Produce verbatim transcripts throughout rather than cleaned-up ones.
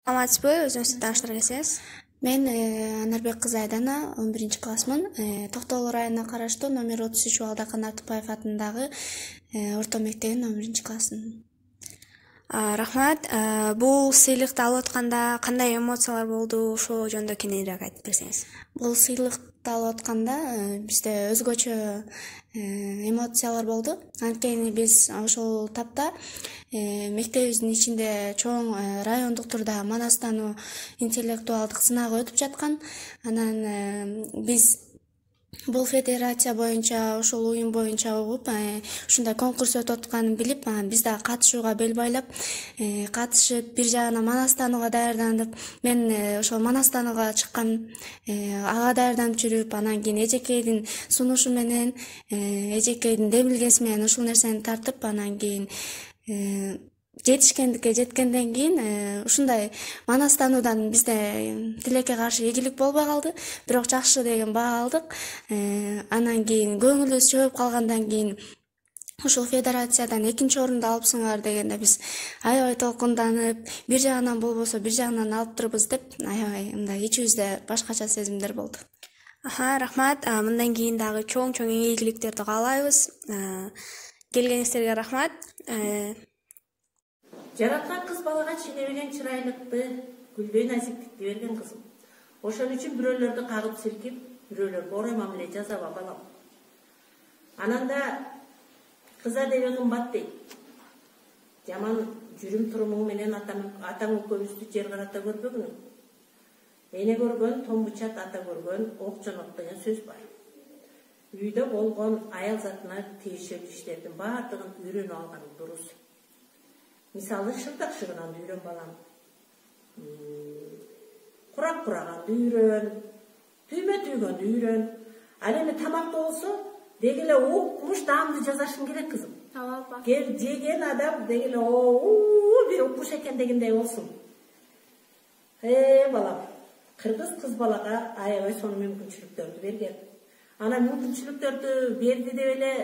Саламатсызбы, өзүңүздү тааныштыра кетсеңиз. Мен Анарбек кызы Айдана, он биринчи классмын. Токтогул районуна караштуу номер отуз үч Балдахан Артыкбаев атындагы орто мектебинин он биринчи классымын. Рахмат. Бул сыйлыкты алып атканда кандай эмоциялар болду? Ошол жөнүндө кененирээк айтып берсеңиз. Бул сыйлыкты алып атканда бизде өзгөчө эмоциялар болду. Анткени биз ошол тапта мектебибиздин ичинде чоң райондук турда манастануу интеллектуалдык сынагы өтүп жаткан. Анан биз бул федерация боюнча, ошол уюм боюнча угуп, ушундай конкурс өтүп атканын билип, биз да катышууга бел байлап, катышып, бир жагынан манастанууга даярданып, мен ошол манастанууга чыккан, ага даярданып жүрүп, анан кийин эжекейдин сунушу менен, эжекейдин демилгеси менен ушул нерсени тартып, анан кийин жетишкендикке жеткенден кийин ушундай манастануудан бизде тилекке каршы ийгилик болбой калды, бирок жакшы деген баа алдык. Анан кийин көңүлүбүз чөгүп калгандан кийин ушул федерациядан экинчи орунду алыпсыңар дегенде биз аябай толкунданып, бир жагынан болбосо бир жагынан алып турбуз деп, аябай мындай ичибизде башкача сезимдер болду. Аха, рахмат. Мындан кийин дагы чоң-чоң ийгиликтерди каалайбыз. Келгениңиздерге рахмат. Жараткан кыз балага ченебеген чырайлыкты, гүлдөй назиктикти берген кызым. Ошон үчүн бирөөлөрдү кагып силкип, бирөөлөргө орой мамиле жасаба балам. Ананда кыз адеби кымбат дейт. Жаман жүрүм турумуң менен атаң экөөбүздү жер карата көрбөгүнүң. Эне көргөн томбучат, ата көргөн ок жонок деген сөз бар. Үйдө болгон аял затына тиешелүү иштердин баардыгын үйрөнүп алган дурус. Мисалы, шырдак шыгынанды үйрөн балам. Курак кураганды үйрөн, түймө түйгөндү үйрөн. Ал эми тамакта болсо, деги эле укмуш даамды жасашың керек кызым. Ооба. Кел жеген адам деги эле оо бир укмуш экен дегендей болсун. Э балам, кыргыз кыз балага аябай сонун мүмкүнчүлүктөрдү берген. Ана мүмкүнчүлүктөрдү берди деп эле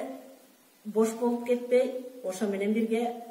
бош болуп кетпей, ошо менен бирге